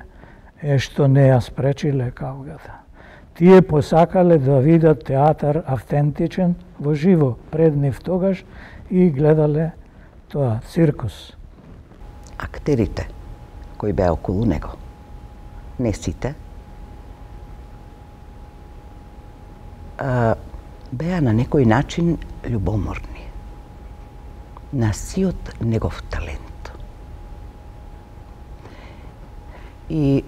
е што не ја спречиле каугата. Тие посакале да видат театар автентичен во живо пред нив тогаш и гледале тоа циркус. Актерите кои беа околу него, не сите, беа на некој начин љубоморни на сиот негов талент. И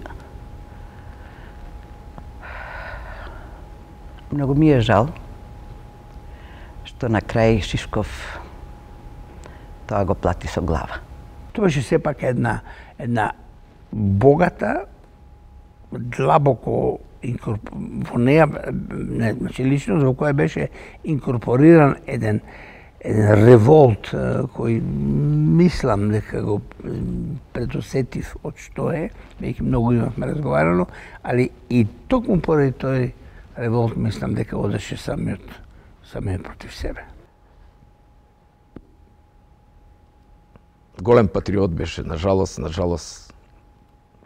многу ми е жал што на крај Шишков тоа го плати со глава. Тоа беше сепак една богата, длабоко во неја, значи личност во која беше инкорпориран еден револт кој мислам дека го предусетив од што е, веќе многу имавме разговарано, али и токму поради тој револт мислам дека одеше самиот против себе. Голем патриот беше, нажалост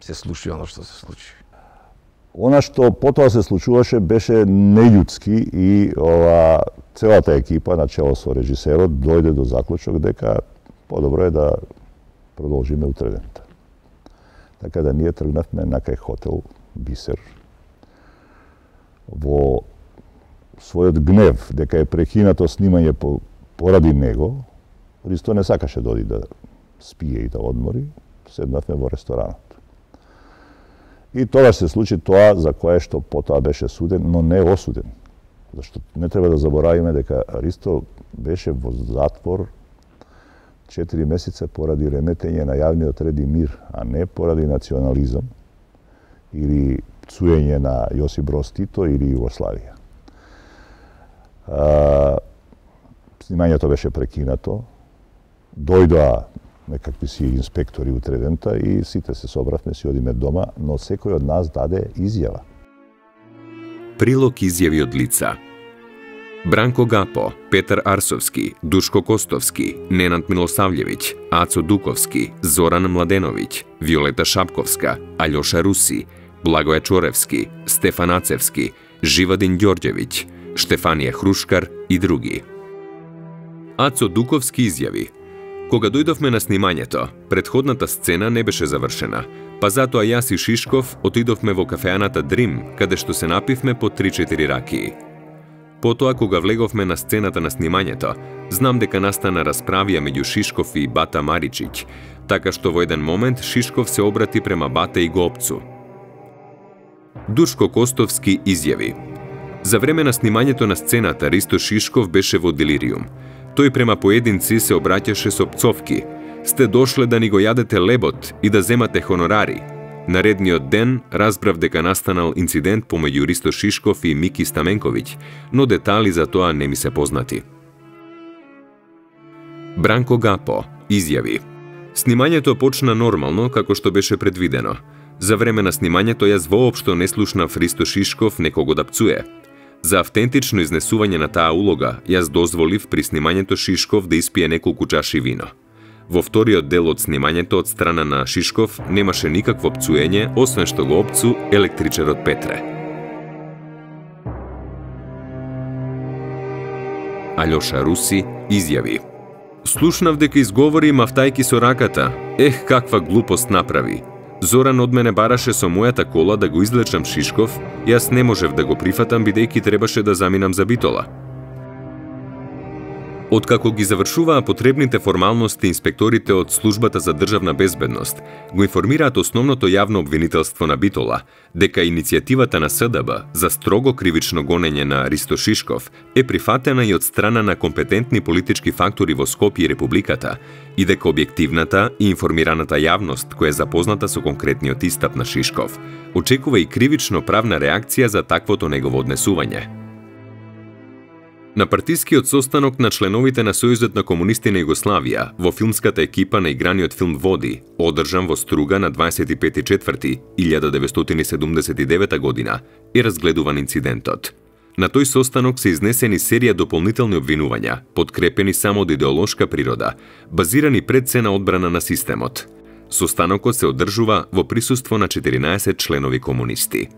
се случи оно што се случи. Она што потоа се случуваше беше нељудски и целата екипа на чело со режисерот дојде до заклучок дека подобро е да продолжиме утредента. Така да ние тргнавме на кај хотел Бисер. Во својот гнев дека е прекинато снимање поради него, Ристо не сакаше да оди да спие и да одмори, седнавме во ресторанот. И тогаш се случи тоа за кое што потоа беше суден, но не осуден. Зашто не треба да заборавиме дека Ристо беше во затвор 4 месеца поради реметење на јавниот ред и мир, а не поради национализам или пцуење на Јосип Броз Тито или Југославија. Снимањето беше прекинато, дојдоа некакви си инспектори утре дента и сите се собравме, си одиме дома, но секој од нас даде изјава. Прилог изјави од лица. Бранко Гапо, Петар Арсовски, Душко Костовски, Ненад Милосављевиќ, Ацо Дуковски, Зоран Младеновиќ, Виолета Шапковска, Алјоша Руси, Благоја Чоревски, Стефан Ацевски, Живадин Ѓорѓевиќ, Штефанија Хрушкар и други. Ацо Дуковски изјави: кога дојдовме на снимањето, претходната сцена не беше завршена, па затоа јас и Шишков отидовме во кафеаната Дрим, каде што се напивме по 3-4 ракии. Потоа, кога влеговме на сцената на снимањето, знам дека настана расправија меѓу Шишков и Бата Маричиќ, така што во еден момент Шишков се обрати према Бата и го опцу. Душко Костовски изјави: за време на снимањето на сцената Ристо Шишков беше во делириум. Тој према поединци се обраќаше со пцовки: сте дошле да ни го јадете лебот и да земате хонорари. Наредниот ден разбрав дека настанал инцидент помеѓу Ристо Шишков и Мики Стаменковиќ, но детали за тоа не ми се познати. Бранко Гапо изјави: снимањето почна нормално како што беше предвидено. За време на снимањето јас воопшто не слушнав Ристо Шишков некого да пцуе. За автентично изнесување на таа улога, јас дозволив при снимањето Шишков да испие неколку чаши вино. Во вториот дел од снимањето од страна на Шишков немаше никакво пцуење, освен што го опцу електричарот Петре. Алјоша Руси изјави: слушнав дека изговори мавтајки со раката. Ех, каква глупост направи. Зоран од мене бараше со мојата кола да го излечам Шишков, јас не можев да го прифатам бидејќи требаше да заминам за Битола. Откако ги завршуваа потребните формалности, инспекторите од Службата за државна безбедност го информираат основното јавно обвинителство на Битола дека иницијативата на СДБ за строго кривично гонење на Ристо Шишков е прифатена и од страна на компетентни политички фактори во Скопје и Републиката и дека објективната и информираната јавност која е запозната со конкретниот истап на Шишков очекува и кривично правна реакција за таквото негово однесување. На партискиот состанок на членовите на Сојузот на комунисти на Југославија во филмската екипа на играниот филм Води, одржан во Струга на 25.4.1979 година, е разгледуван инцидентот. На тој состанок се изнесени серија дополнителни обвинувања, подкрепени само од идеолошка природа, базирани пред се на одбрана на системот. Состанокот се одржува во присуство на 14 членови комунисти.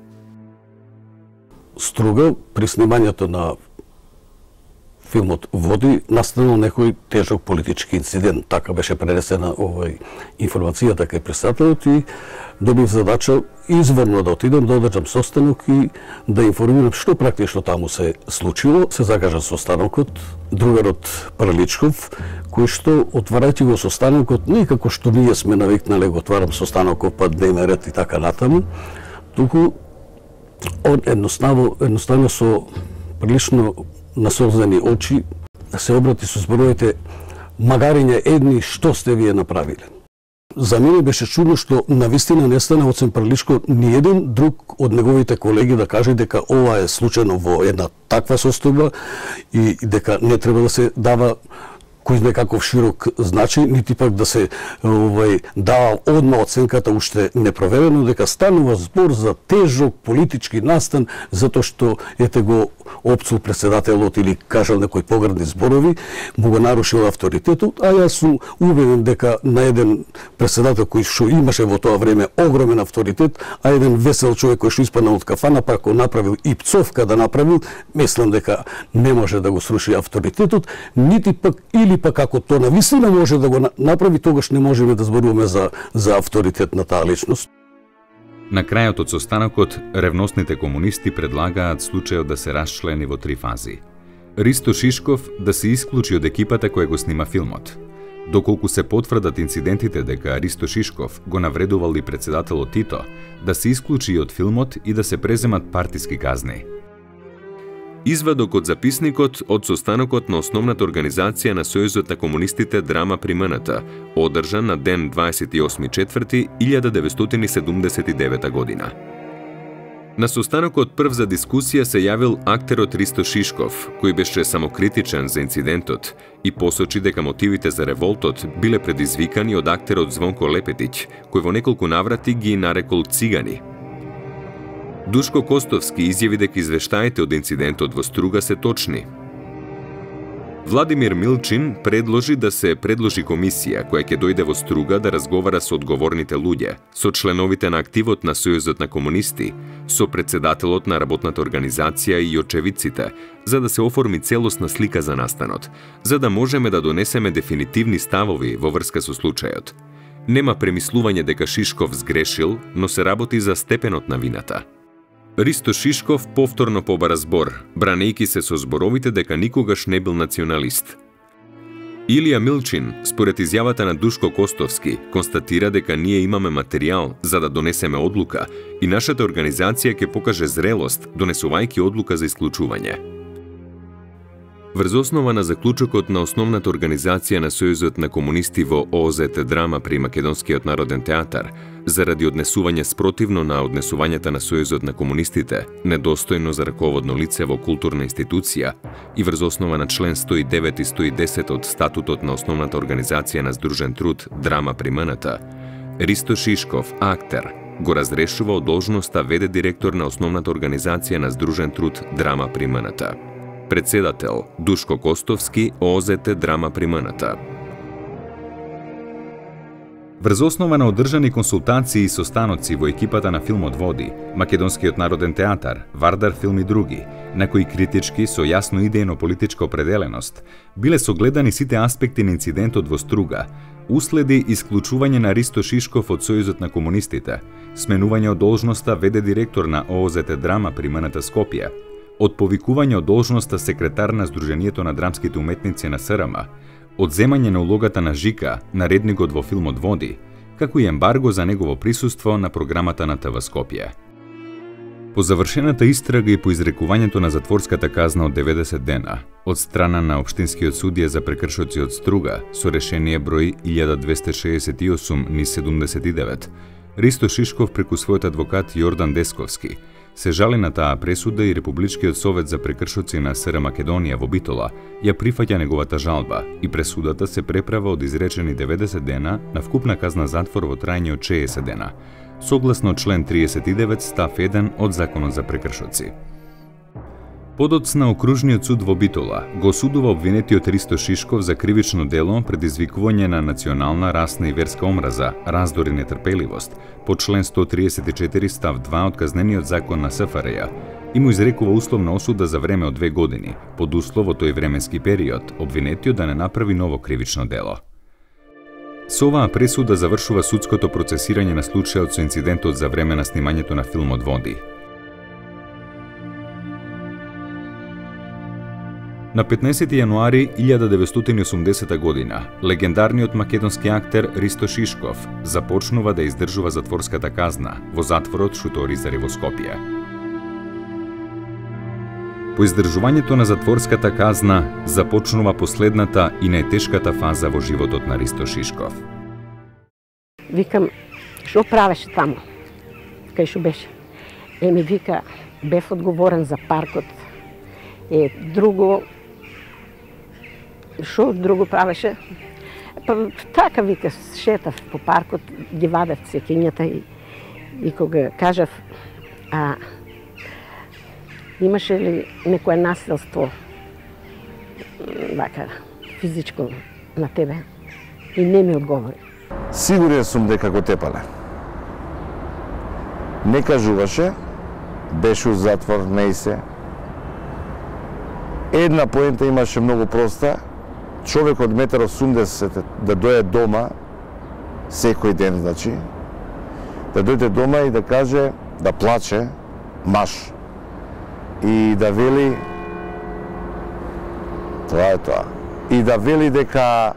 Струга при снимањето на филмот Води настанал некој тежок политички инцидент. Така беше пренесена информацијата кај председателот и добив задача изворно да отидам да одржам состанок и да информирам што практично таму се случило. Се закажа состанокот, другарот Парличков, кој што отварајќи го состанокот не како што ние сме навикнале го отварам состанокот па дневен ред и така натаму, туку он едноставно со прилично насолзени очи се обрати со зборовите: магариња едни, што сте вие направиле? За мене беше чудно што навистина не стана од Парличко ни еден друг од неговите колеги да каже дека ова е случајно во една таква состојба и дека не треба да се дава кој знае каков широк значај, нити пак да се дава одма оценката уште непроверено, дека станува збор за тежок политички настан затоа што ете го опцул председателот или кажал некои погрдни зборови, му го нарушил авторитетот, а јас сум убеден дека на еден председател кој што имаше во тоа време огромен авторитет, а еден весел човек кој што испаднал од кафана, па ако направил и пцовка да направил, мислам дека не може да го сруши авторитетот, нити пак или пак ако тоа навистина може да го направи, тогаш не можеме да зборуваме за авторитет на таа личност. На крајот од состанокот, ревностните комунисти предлагаат случајот да се расчлени во 3 фази. Ристо Шишков да се исклучи од екипата која го снима филмот. Доколку се потврдат инцидентите дека Ристо Шишков го навредувал и председателот Тито, да се исклучи и од филмот и да се преземат партиски казни. Извадок од записникот од состанокот на основната организација на Сојузот на комунистите Драма при МНТ, одржан на ден 28.4.1979 година. На состанокот прв за дискусија се јавил актерот Ристо Шишков, кој беше самокритичен за инцидентот и посочи дека мотивите за револтот биле предизвикани од актерот Звонко Лепетиќ, кој во неколку наврати ги нарекол цигани. Душко Костовски изјави дека извештаите од инцидентот во Струга се точни. Владимир Милчин предложи да се предложи комисија која ќе дојде во Струга да разговара со одговорните луѓе, со членовите на активот на Сојузот на комунисти, со председателот на работната организација и очевидците, за да се оформи целосна слика за настанот, за да можеме да донесеме дефинитивни ставови во врска со случајот. Нема премислување дека Шишков сгрешил, но се работи за степенот на вината. Ристо Шишков повторно побара збор, бранејќи се со зборовите дека никогаш не бил националист. Илија Милчин, според изјавата на Душко Костовски, констатира дека ние имаме материјал за да донесеме одлука и нашата организација ќе покаже зрелост, донесувајќи одлука за исклучување. Врз основа на заклучокот на основната организација на Сојузот на комунисти во ООЗ Драма при Македонскиот народен театар, заради однесување спротивно на однесувањата на Сојузот на комунистите, недостојно за раководно лице во културна институција и врз основа на член 109 и 110 од статутот на основната организација на Здружен труд Драма при МНТ, Ристо Шишков, актер, го разрешува од должноста ВД директор на основната организација на Здружен труд Драма при МНТ. Председател Душко Костовски, ООЗ Драма при МНТ. Врз основа на одржани консултации и состаноци во екипата на филмот Води, Македонскиот народен театар, Вардар филм и други, на кои критички со јасно идејно политичка определеност, биле согледани сите аспекти на инцидентот во Струга, уследи исклучување на Ристо Шишков од Сојузот на комунистите, сменување од должноста ВД директор на ООЗ Драма при МНТ Скопје, од повикување од должноста секретар на Сдруженијето на драмските уметници на СРМ, одземање на улогата на Жика, наредникот во филмот Води, како и ембарго за негово присуство на програмата на ТВ Скопје. По завршената истрага и по изрекувањето на затворската казна од 90 дена, од страна на Општинскиот судија за прекршоци од Струга, со решение број 1268/79, Ристо Шишков преку својот адвокат Јордан Десковски се жали на таа пресуда и Републичкиот совет за прекршоци на СР Македонија во Битола ја прифаќа неговата жалба и пресудата се преправа од изречени 90 дена на вкупна казна затвор во трајање од 60 дена, согласно член 39 став 1 од Законот за прекршоци. Подоцна Окружниот суд во Битола го осудува обвинетиот Ристо Шишков за кривично дело предизвикување на национална, расна и верска омраза, раздор и нетрпеливост по член 134 став 2 од Казнениот закон на СФРЈ и му изрекува условна осуда за време од 2 години, под услов во тој временски период обвинетиот да не направи ново кривично дело. Со оваа пресуда завршува судското процесирање на случајот со инцидентот за време на снимањето на филмот Води. На 15 јануари 1980 година, легендарниот македонски актер Ристо Шишков започнува да издржува затворската казна во затворот Шуторизари во Скопје. По издржувањето на затворската казна започнува последната и најтешката фаза во животот на Ристо Шишков. Викам, што правеше таму? Кај што беше? Ми вика, бев одговорен за паркот. Друго, што друго правеше? Па така вика, шетав по паркот, ги вадев цекињата и кога кажав, имаше ли некое насилство, вака, физичко на тебе? И не ми одговори. Сигурен сум дека го тепале. Не кажуваше, беше у затвор, не се. Една поента имаше многу проста, човек од 1,80 м да дојде дома секој ден, значи, да дојде дома и да каже, да плаче, маж, и да вели, тоа е тоа, и да вели дека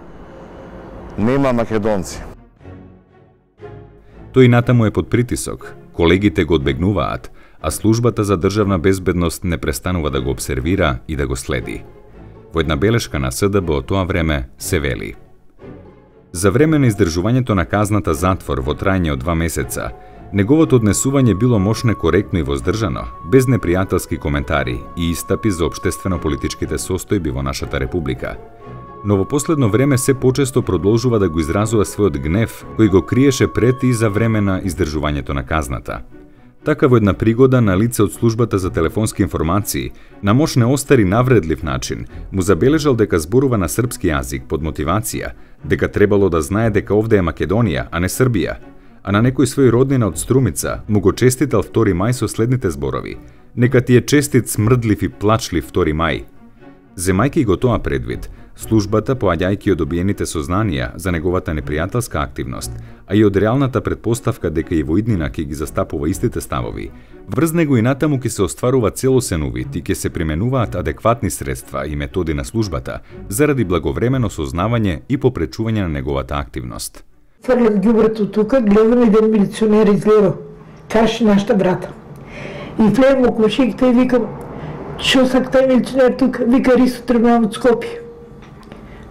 нема македонци. Тој натаму е под притисок, колегите го одбегнуваат, а службата за државна безбедност не престанува да го обсервира и да го следи. Во една белешка на СДБ од тоа време се вели: за време на издржувањето на казната затвор во трајање од 2 месеца, неговото однесување било мошне коректно и воздржано, без непријателски коментари и истапи за општествено-политичките состојби во нашата република. Но во последно време се почесто продолжува да го изразува својот гнев, кој го криеше пред и за време на издржувањето на казната. Така во една пригода на лице од службата за телефонски информации, на мошне остари навредлив начин, му забележал дека зборува на српски јазик под мотивација, дека требало да знае дека овде е Македонија, а не Србија, а на некој свој роднина од Струмица му го честитал 2 мај со следните зборови: нека ти е честит, смрдлив и плачлив 2 мај. Земајќи го тоа предвид, службата, поаѓајќи од добиените сознанија за неговата непријателска активност, а и од реалната предпоставка дека и во иднина ќе ги застапува истите ставови, врз него и натаму ќе се остварува целосен увид и ќе се применуваат адекватни средства и методи на службата заради благовремено сознавање и попречување на неговата активност. Фрлям ѓубрето тука, гледам еден милиционер излева, каши нашата брата. И влезам околу шикта и викам: шо сак тај милиционер тука? Вика: Ристо, требам од Скопје.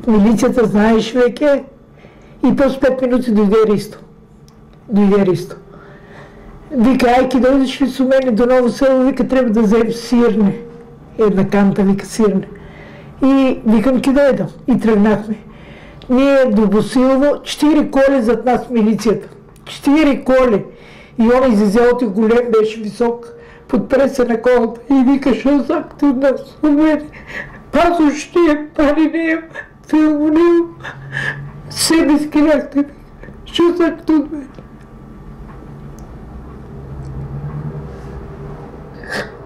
Милицијата знаеш веќе и после 5 минути дојде Ристо. Вика: ај ки дојдеш ли со мене до Ново Село, вика, треба да земем сирне. Една канта, вика, сирне. И викам: ки дојдам. И тргнахме. Ние до Босилово, 4 коли зад нас милицијата. 4 коли. И он изизелот голем, беше висок, подпре се на колата и вика: шо сак ти од нас со мене? Пазуш не, пари не, филм не, себе скинахте. Шо сак ти од мене?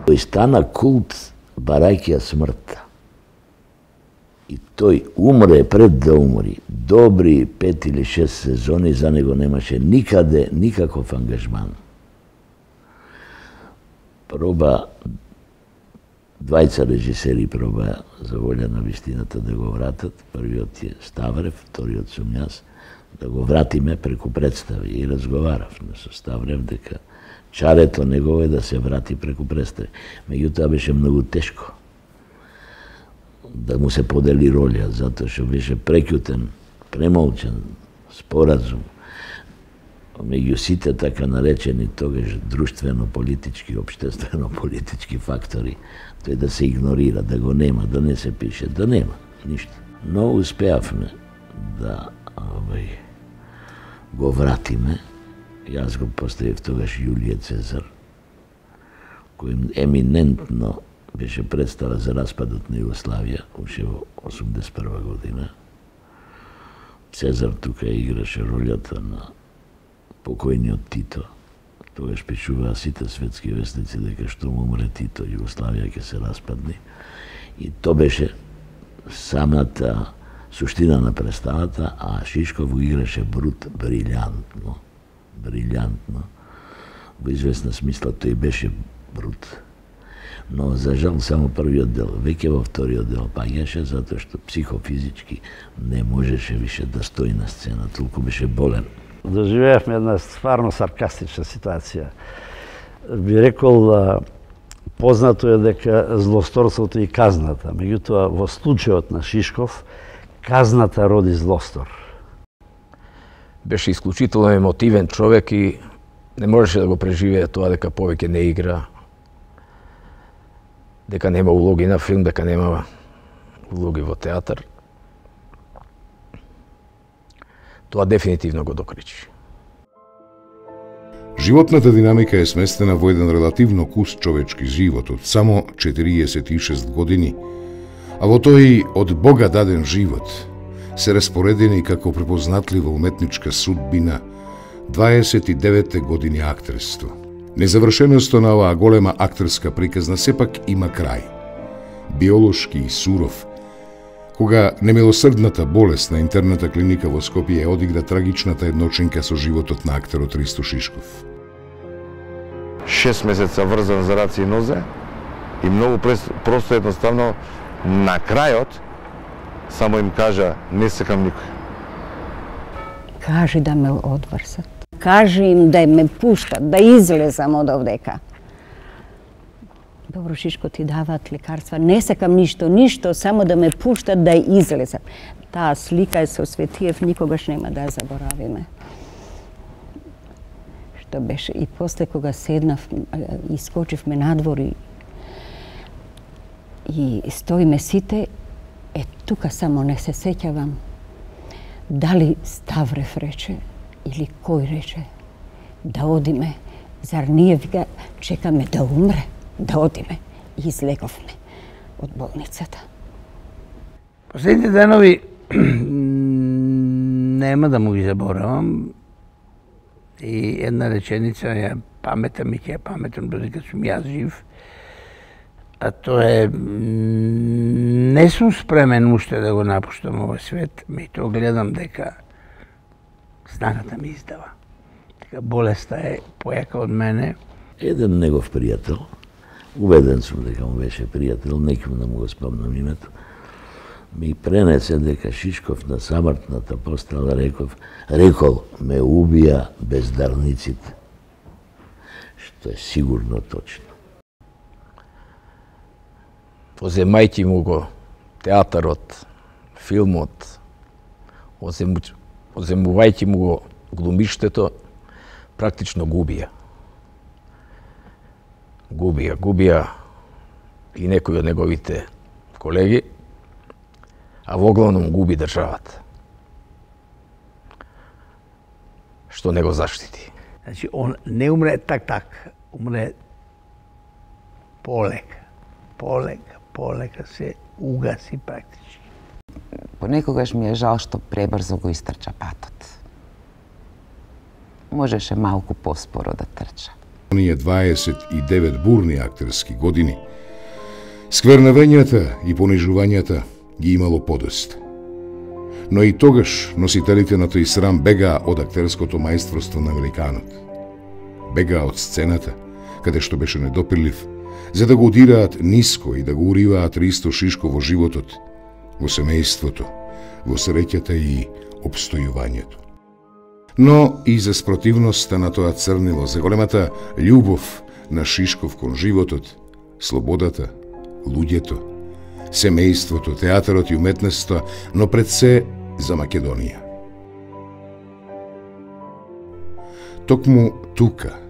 Тој стана култ барајќи ја смртта. И тој умре пред да умри. Добри 5 или 6 сезони за него немаше никаде никаков ангажман. Проба, двајца режисери проба за волја на вистината да го вратат. Првиот е Ставрев, вториот сум јас, да го вратиме преку представи. И разговаравме со Ставрев дека чарето негово е да се врати преку представи. Меѓутоа беше многу тешко да му се подели роля, затоа што беше прекјутен, премолчен споразум меѓу сите така наречени тогаш друштвено-политички, општествено-политички фактори, тој да се игнорира, да го нема, да не се пише, да нема ништо. Но успеавме да го вратиме. Јас го поставив тогаш Јулије Цезар, кој еминентно беше представа за распадот на Југославија, уште во 81 година. Цезар тука играше ролјата на покојниот Тито. Тогаш пишуваа сите светски вестници дека што му умре Тито, Југославија ќе се распадне. И то беше самата суштина на представата, а Шишков го играше Брут брилјантно. Во известна смисла тој беше Брут. Но за жал само првиот дел, веќе во вториот дел паѓаше, затоа што психофизички не можеше више да стои на сцена, толку беше болен. Доживеавме една стварно саркастична ситуација. Би рекол, познато е дека злосторството и казната, меѓутоа во случајот на Шишков, казната роди злостор. Беше исклучително емотивен човек и не можеше да го преживее тоа дека повеќе не игра, дека нема улоги на филм, дека нема улоги во театар. Тоа дефинитивно го докричи. Животната динамика е сместена во еден релативно куст човечки живот од само 46 години, а во тој од Бога даден живот се распоредени како препознатлива уметничка судбина 29 години актерство. Незавршеноста на оваа голема актерска приказна сепак има крај. Биолошки и суров, кога немилосрдната болест на интерната клиника во Скопје одигра трагичната едночинка со животот на актерот Ристо Шишков. 6 месеца врзан за раце и нозе и многу просто едноставно на крајот само им кажа: не секам никој. Кажи да ме одврзат. Кажи им да ме пуштат, да излезам од овдека. Добро, Шишко, ти даваат лекарства. Не сакам ништо, само да ме пуштат да излезам. Таа слика е со Светиев, никогаш нема да ја заборавиме. Што беше. И после кога седнав, искочивме надвор и стоиме сите, тука само не се сеќавам дали Ставрев рече или кој рече да одиме. Зар ние вика чекаме да умре, да одиме. И излеговме од болницата. Последните денови нема да му ги заборавам. И една реченица ја паметам и ќе ја паметам додека сум јас жив. А тоа е, не сум спремен уште да го напуштам овој свет, меѓутоа гледам дека снагата ми издава. Дека болеста е појака од мене. Еден негов пријател, убеден сум дека му беше пријател, некој да му го спомнам името, ми пренесе дека Шишков на самртната постела рекол ме убија бездарниците, што е сигурно точно. Оземајќи му го театарот, филмот, оземувајќи му го глумиштето, практично губија. Губија и некои од неговите колеги, а во главном губи државата. Што не го заштити. Значи, он не умре так, умре полека се угаси практички. Понекогаш ми е жал што пребрзо го истрча патот. Можеше малку поспоро да трча. Оние 29 бурни актерски години, сквернавењата и понижувањата ги имало подоста. Но и тогаш носителите на тој срам бегаа од актерското мајсторство на великанот. Бегаа од сцената, каде што беше недопирлив, за да го удираат ниско и да го уриваат Ристо Шишко во животот, во семејството, во среќата и обстојувањето. Но и за спротивноста на тоа црнило, за големата љубов на Шишков кон животот, слободата, луѓето, семејството, театарот и уметноста, но пред се за Македонија. Токму тука,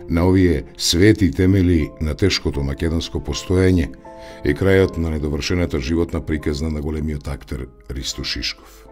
на овие свети темели на тешкото македонско постоење, е крајот на недовршената животна приказна на големиот актер Ристо Шишков.